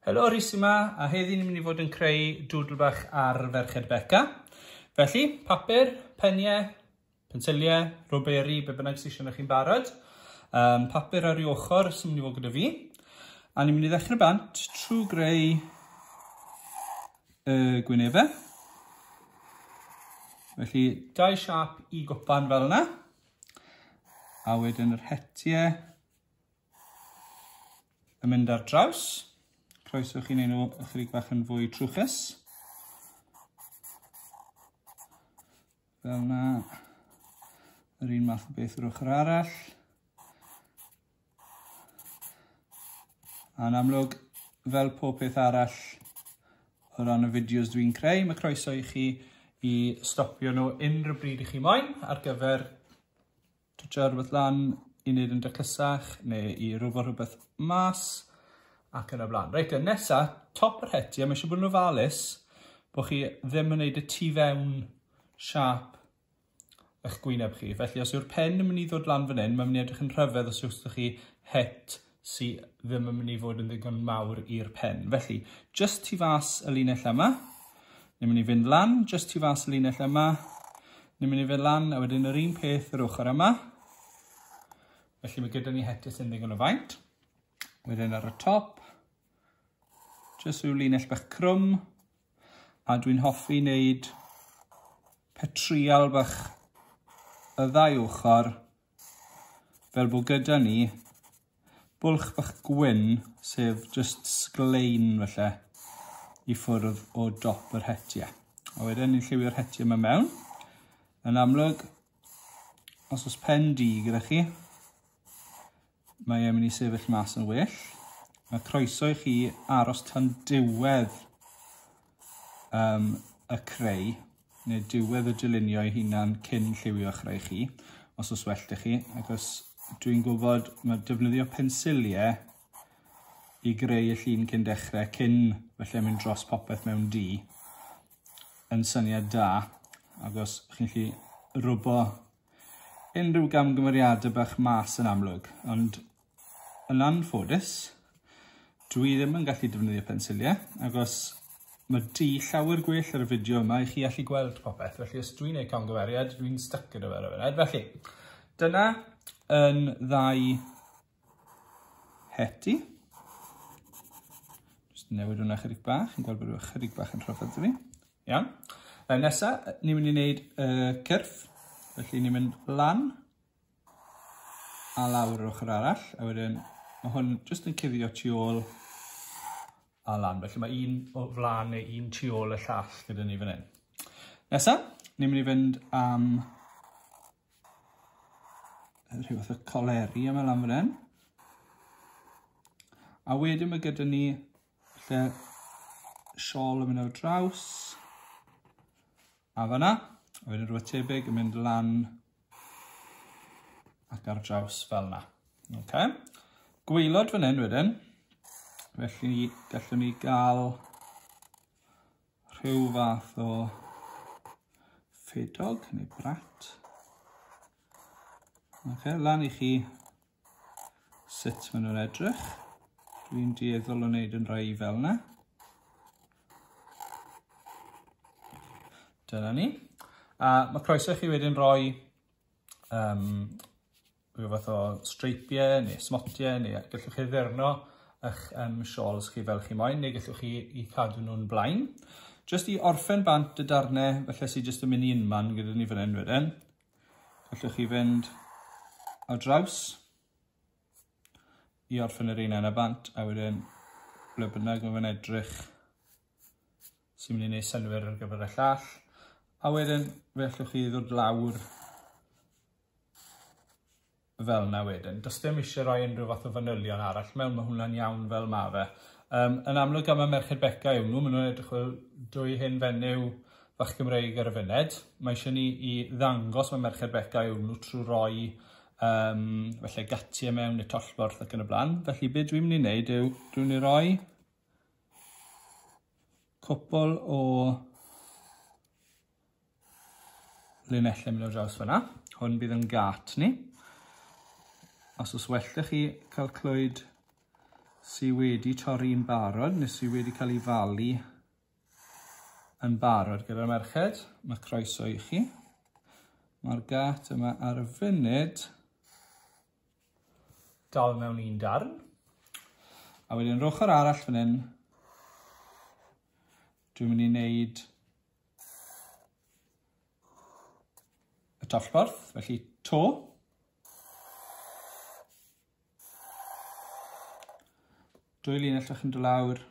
Helo, Rhys yma, a heddi ni'n mynd i fod yn creu doodle bach ar Ferched Beca. Felly, papur, peniau, pensiliau, rwberi, be bynnag sydd eisiau chi'n barod. Papur ar ei ochr sy'n mynd i fod gyda fi. A ni'n mynd i ddechrau bant trwy greu y gwynebau. Felly, dau siâp i gwpan fel yna. A wedyn yr hetiau yn mynd ar draws. Croeso chi wneud nhw ychydig bach yn fwy trwchus. Fel yna. Yr un math o beth yr ochr arall. A'n amlwg, fel pob peth arall o ran y fideos dwi'n creu, mae croeso i chi i stopio nhw unrhyw bryd i chi moyn ar gyfer twtsio rhywbeth lan i wneud yn daclysach neu i rwfo rhywbeth mas ac yn y blaen. Reit, nesa, top yr hetiau, mae eisiau bod yn ofalus bod chi ddim yn gwneud y tu fewn siâp eich gwyneb chi. Felly, os yw'r pen yn mynd i ddod lan fan hyn, mae'n mynd i edrych yn rhyfedd os yw'ch chi het sydd ddim yn mynd i fod yn ddigon mawr i'r pen. Felly, just tu fas y linell yma, ni'n mynd i fynd lan, just tu fas y linell yma, ni'n mynd i fynd lan, a wedyn yr un peth yr ochr yma. Felly mae gyda ni hetiau sy'n ddigon o faint. Wedyn ar y top, just rhyw linell bach crwm, a dwi'n hoffi wneud petrial bach y ddau ochr, fel bod gyda ni bwlch bach gwyn, sef just sglein felly, i ffwrdd o dop yr hetiau. A wedyn ni'n lliwio'r hetiau yma mewn. Yn amlwg, os oes pen du gyda chi, mae e'n mynd i sefyll mas yn well. Mae croeso i chi aros tan diwedd y creu, neu diwedd y dylunio ei hunan cyn lliwio chreu chi, os oes well 'da chi. Ac os dwi'n gwybod mae defnyddio pensiliau i greu y llun cyn dechrau, cyn felly mynd dros popeth mewn du, yn syniad da, ac os chi'n gallu rwbo unrhyw gamgymeriadau bach mas yn amlwg, ond yn anffodus, dwi ddim yn gallu defnyddio pensiliau, ac os mae du llawer gwell ar y fideo yma i chi allu gweld popeth, felly os dwi'n gwneud camgymeriad, dwi'n stuck gyda fe ar y funud. Felly, dyna yn ddau heti. Just newid hwnna chydig bach, yn gweld bod rhywbeth chydig bach yn rhyfedd i fi. Iawn. Nesa, ni'n mynd i wneud y cyrff, felly ni'n mynd lan a lawr yr ochr arall, a wedyn mae hwn jyst yn cuddio tu ôl a lan, felly mae un o flaen neu un tu ôl y llall gyda ni fan hyn. Nesa, ni'n mynd i fynd am rhyw fath o coleri yma lan fan hyn. A wedyn mae gyda ni lle siôl yn mynd ar draws. A fan'na, a wedyn rhywbeth tebyg yn mynd lan ac ar draws fel 'na. Okay. Gwaelod fan hyn wedyn, felly gallwn ni gael rhyw fath o ffedog neu brat. Okay, lan i chi sut maen nhw'n edrych. Dwi'n dueddol o wneud yn rhai fel yna. Dyna ni. A mae croeso i chi wedyn roi rhyw fath o streipiau neu smotiau, neu gallwch chi ddurno eich siôls chi fel chi moyn, neu gallwch chi i cadw nhw'n blaen. Jyst i orffen bant y darnau, felly sydd jyst yn mynd i unman gyda ni fan hyn wedyn. Gallwch chi fynd ar draws i orffen yr un yna bant, a wedyn ble bynnag mae fe'n edrych sy'n mynd i wneud synnwyr ar gyfer y llall. A wedyn fe allwch chi ddod lawr fel yna wedyn. Does dim eisiau rhoi unrhyw fath o fanylion arall mewn, mae hwnna'n iawn fel ma fe. Yn amlwg am y Merched Beca yw nhw, maen nhw'n edrych fel dwy hen fenyw fach Gymreig ar y funud. Mae eisiau ni i ddangos mae Merched Beca yw nhw trwy roi felly gatiau mewn neu tollborth ac yn y blaen. Felly be dwi'n mynd i wneud yw dwi'n mynd i roi cwpl o linellau mynd ar draws fyna. Hwn bydd yn gat ni. Os oes well 'da chi cael clwyd sydd wedi torri'n barod, neu sydd wedi cael ei falu yn barod gyda'r merched, mae croeso i chi. Mae'r gat yma ar y funud dal mewn un darn. A wedyn yr ochr arall fan hyn, dwi'n mynd i wneud y tollborth, felly to. Dwy linell fach yn dod lawr.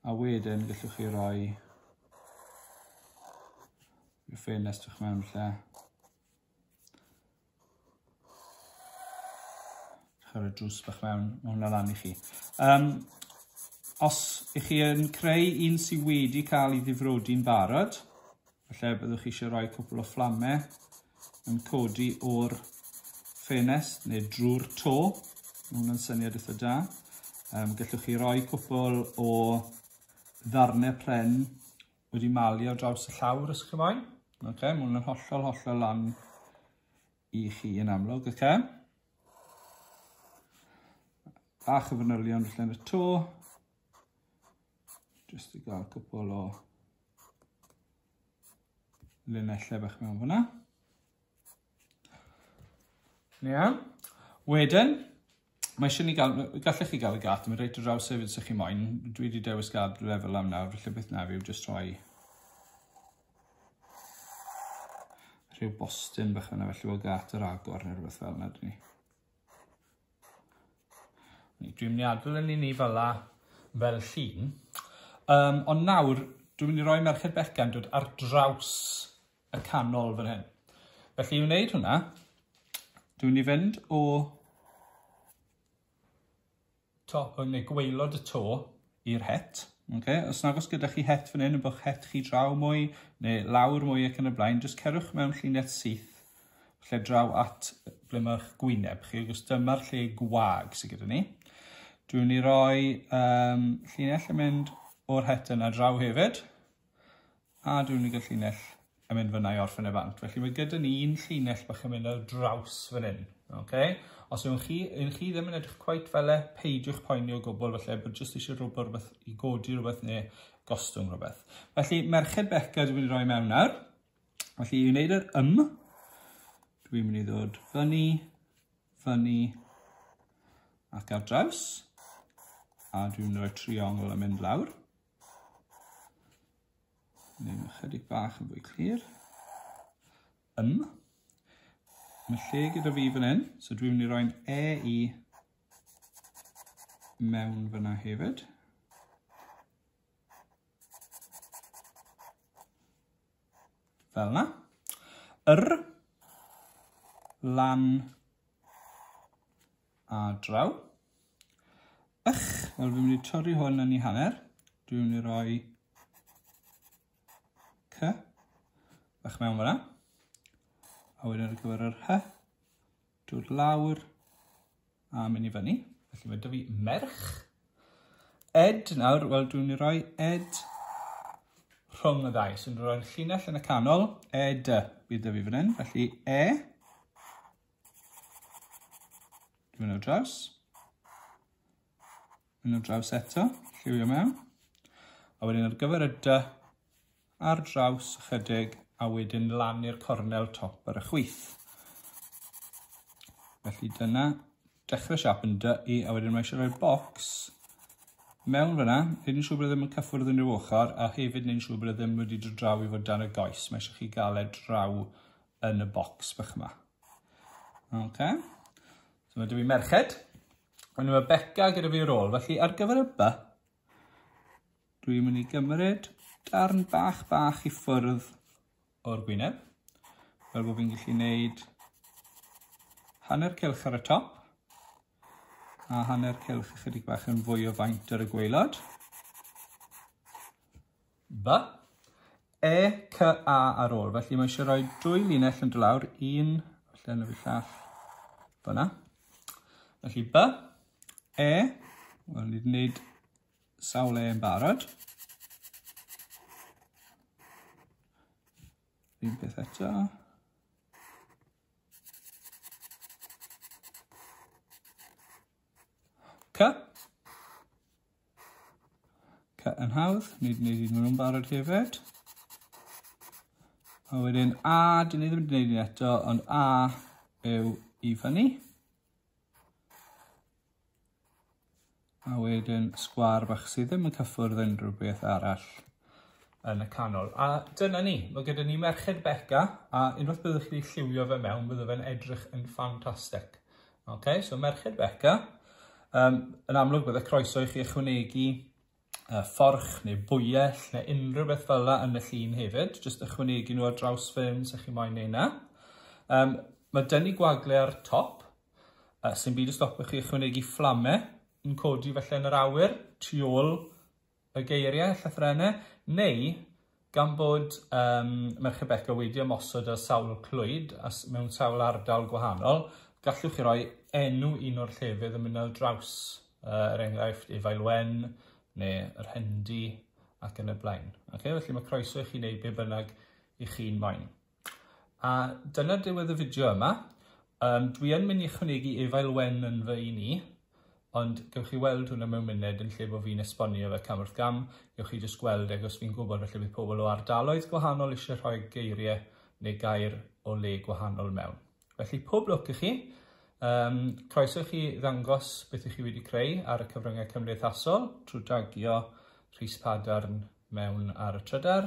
A wedyn gallwch chi roi rhyw ffenest fach mewn lle. Ar y drws bach mewn, mae hwnna lan i chi. Os ych chi yn creu un sydd wedi cael ei ddifrodi'n barod, falle byddwch chi eisiau rhoi cwpl o fflamau yn codi o'r ffenest neu drwy'r to. Mae hwnna'n syniad eitha da. Gallwch chi roi cwpl o ddarnau pren wedi malu ar draws y llawr os chi moyn. Okay, mae hwnna'n hollol, hollol lan i chi yn amlwg. Okay. Bach o fanylion felly yn y to. Just i gael cwpl o linellau bach mewn fyna. Iawn. Wedyn, mae eisiau ni gael, gallech chi gael y gat, mae'n reit o draws hefyd os ych chi moyn. Dwi wedi dewis gael lefel am nawr, felly beth na fi yw jyst rhoi rhyw bostyn bach yna, felly bod gat yr agor neu rhywbeth fel yna, dyn ni. Dwi'n mynd i adael yn ni fel la, fel llun. Ond nawr, dwi'n mynd i roi Merched Beca'n dod ar draws y canol fan hyn. Felly i wneud hwnna, dwi'n mynd i fynd o top, neu gwaelod y to i'r het. Okay? Os nag oes gyda chi het fan hyn, yn bod het chi draw mwy, neu lawr mwy ac yn y blaen, jyst cerwch mewn llinell syth, lle draw at ble mae'ch gwyneb chi, achos dyma'r lle gwag sydd gyda ni. Dwi'n mynd i roi llinell yn mynd o'r het yna draw hefyd, a dwi'n mynd i gael llinell yn mynd fyna i orffen y bant. Felly mae gyda ni un llinell bach yn mynd ar draws fan hyn. Okay? Os yw'n chi, chi ddim yn edrych cweit fel e, peidiwch poeni o gwbl, felly bod jyst eisiau rhywbeth i godi rhywbeth neu gostwng rhywbeth. Felly Merched Beca dwi'n mynd i roi mewn nawr. Felly i wneud yr ym, dwi'n mynd i ddod fyny, fyny ac ar draws. A dwi'n mynd i roi triongl yn mynd lawr. Neu ychydig bach yn fwy clir. Ym. Mae lle gyda fi fan hyn, so dwi'n mynd i roi'n E i mewn fyna hefyd. Fel yna. Yr, lan a draw. Ych, wel fi'n mynd i torri hwn yn ei hanner. Dwi'n mynd i roi C, bach mewn fyna. A wedyn ar gyfer yr H, dod lawr a mynd i fyny. Felly mae 'da fi merch. Ed nawr, wel dwi'n mynd i roi ed rhwng y ddau. So dwi'n rhoi'r llinell yn y canol, ed bydd 'da fi fan hyn. Felly e, dwi'n mynd ar draws. Mynd ar draws eto, lliwio mewn. A wedyn ar gyfer y d, ar draws ychydig, a wedyn lan i'r cornel top ar y chwith. Felly dyna dechrau siap yn dy i, a wedyn mae eisiau rhoi bocs mewn fyna. Neud yn siŵr bod e ddim yn cyffwrdd unrhyw ochr, a hefyd neud yn siŵr bod e ddim wedi dod draw i fod dan y goes. Mae eisiau chi gael e draw yn y bocs bach yma. Okay. So mae 'da fi merched. Ond mae Beca gyda fi ar ôl. Felly ar gyfer y B, dwi'n mynd i gymryd darn bach bach i ffwrdd o'r gwyneb, fel bod fi'n gallu gwneud hanner cylch ar y top a hanner cylch ychydig bach yn fwy o faint ar y gwaelod. B, E, C, A ar ôl. Felly mae eisiau rhoi dwy linell yn dod lawr, un, falle yn y llall, fyna. Felly B, E, wel ni wedi gwneud sawl E yn barod. Un peth eto. C. C yn hawdd, ni wedi gwneud un nhw'n barod hefyd. A wedyn A, dyn ni ddim wedi gwneud un eto, ond A yw i fyny. A wedyn sgwâr bach sydd ddim yn cyffwrdd unrhyw beth arall yn y canol. A dyna ni, mae gyda ni Merched Beca, a unwaith byddwch chi lliwio fe mewn, bydde fe'n edrych yn ffantastig. Okay, so Merched Beca. Yn amlwg bydde croeso i chi ychwanegu fforch neu bwyell neu unrhyw beth fel yna yn y llun hefyd. Jyst ychwanegu nhw ar draws ffilm sy'ch chi moyn neud na. Mae dyn ni gwagle ar top, sy'n byd i stopio chi ychwanegu fflamau yn codi felly yn yr awyr tu ôl y geiriau, llythrennau, neu gan bod Merched Beca wedi ymosod ar sawl clwyd a mewn sawl ardal gwahanol, gallwch chi roi enw un o'r llefydd yn mynd ar draws, er enghraifft Efail Wen neu yr Hendy ac yn y blaen. Okay, felly mae croeso i chi wneud be bynnag i chi'n moyn. A dyna diwedd y fideo yma. Dwi yn mynd i ychwanegu Efail Wen yn fy un i, ond gewch chi weld hwnna mewn munud yn lle bod fi'n esbonio fe cam wrth gam. Gewch chi jyst gweld ag os fi'n gwybod felly bydd pobl o ardaloedd gwahanol eisiau rhoi geiriau neu gair o le gwahanol mewn. Felly pob lwc i chi. Croeso i chi ddangos beth ych chi wedi creu ar y cyfryngau cymdeithasol trwy tagio Rhys Padarn mewn ar y trydar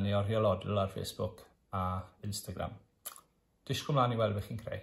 neu Oriel Odl ar Facebook a Instagram. Disgwyl mlaen i weld beth chi'n creu.